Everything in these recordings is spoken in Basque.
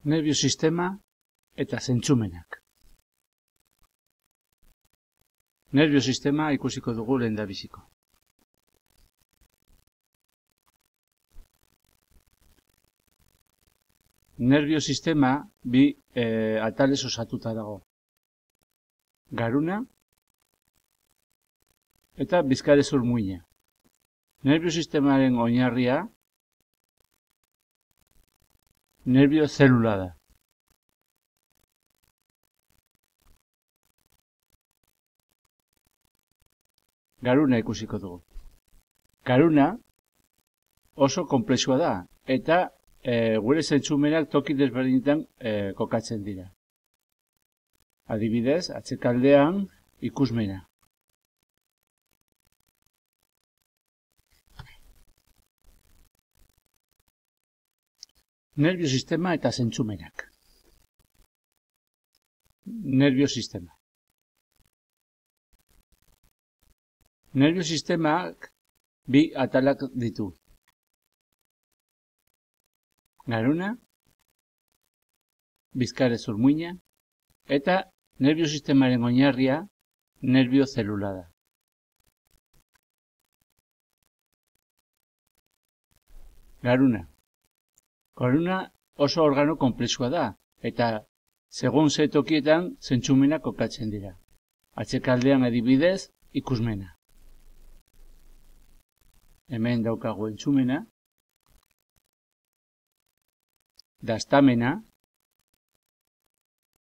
Nerbio sistema eta zentzumenak. Nerbio sistema ikusiko dugu lehendabiziko. Nerbio sistema bi atalez osatuta dago. Garuna eta bizkarrezur muina. Nerbio sistemaren oinarria nerbio zelula da. Garuna ikusiko dugu. Garuna oso konplexua da eta gure zentzumenak toki desberdinetan kokatzen dira. Adibidez, atzekaldean ikusmena. Nerbio sistema eta zentzumenak. Nerbio sistema. Nerbio sistemak bi atalak ditu. Garuna, bizkarrezur muina, eta nerbio sistemaren oinarria nerbio zelula da. Garuna. Garuna oso organo konplexua da, eta segun ze tokietan zentzumenak kokatzen dira. Atzekaldean adibidez, ikusmena. Hemen daukagu entzumena, dastamena,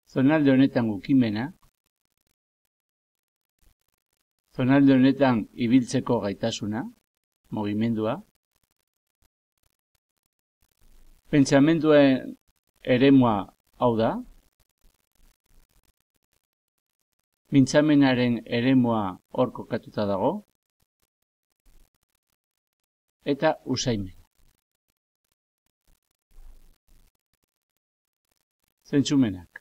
zonalde honetan ukimena, zonalde honetan ibiltzeko gaitasuna, mugimendua, pentsamenduen eremua hau da, mintzamenaren eremua hor kokatuta dago, eta usaimen. Zentzumenak.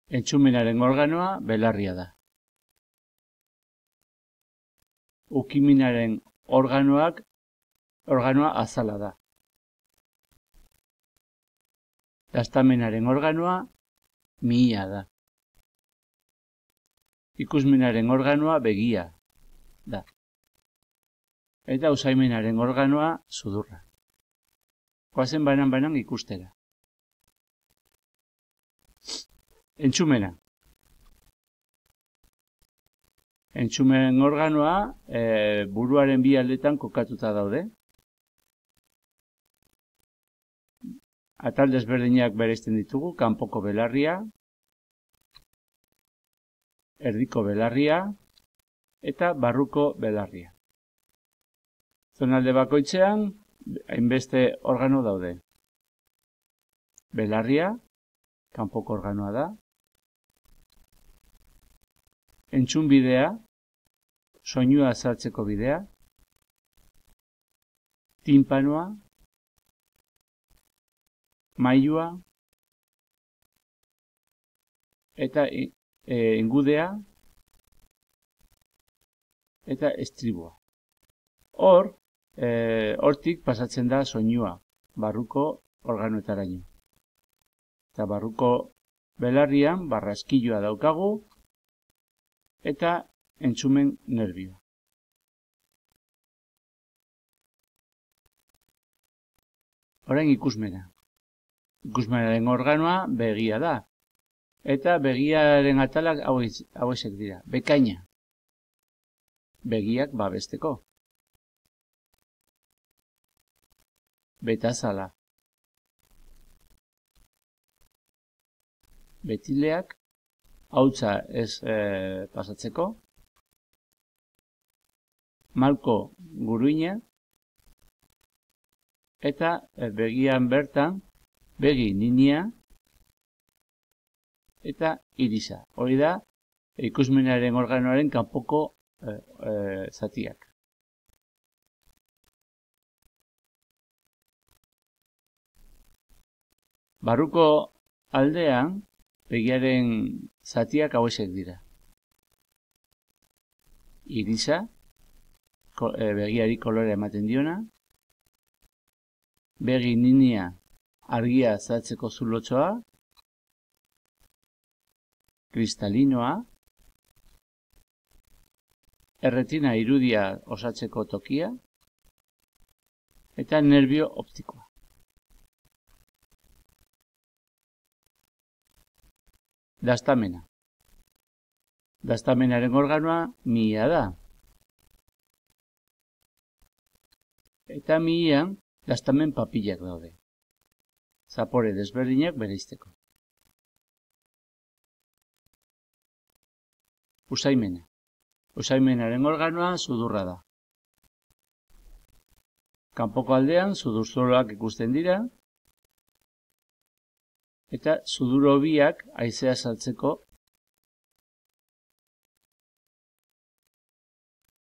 Entzumenaren organoa belarria da. Ukiminaren organoa azala da. Dastamenaren organoa mihia da. Ikusmenaren organoa begia da. Eta usaimenaren organoa sudurra. Goazen banan ikustera. Entzumena. Entzumen organoa buruaren bi aldetan kokatuta daude. Atal desberdinak bereizten ditugu, kanpoko belarria, erdiko belarria eta barruko belarria. Zonalde bakoitzean hainbeste organo daude. Belarria, kanpoko organoa da. Entzun bidea, soinua azaltzeko bidea. Tinpanoa, mailua eta engudea eta estribua. Hortik pasatzen da soinua, barruko organoetaraino. Eta barruko belarrian barraskilloa daukagu eta entzumen nerbioa. Orain ikusmena. Ikusmenaren organoa begia da. Eta begiaren atalak hauexek dira. Bekaina. Begiak babesteko. Betazala. Betileak, hautsa ez pasatzeko. Malko guruina. Eta begian bertan, begi ninia eta irisa. Hori da, ikusmenaren organoaren kanpoko zatiak. Barruko aldean, begiaren zatiak hauexek dira. Irisa, begiari kolore ematen diona. Begi ninia argia azaltzeko zulotxoa. Kristalinoa. Erretina irudia osatzeko tokia. Eta nerbio optikoa. Dastamena. Dastamenaren organoa mihia da. Eta mihian dastamen papilak daude. Zapore desberdinak bereizteko. Usaimena. Usaimenaren organoa sudurra da. Kanpoko aldean sudurzoloak ikusten dira. Eta sudur hobiak haizea saltzeko.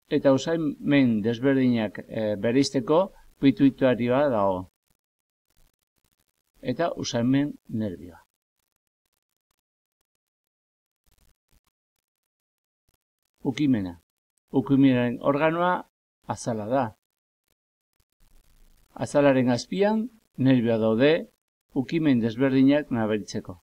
Eta usaimen desberdinak bereizteko pituitarioa dago. Eta usaimen nerbioa. Ukimena. Ukimenaren organoa azala da. Azalaren azpian nerbioa daude ukimen desberdinak nabaritzeko.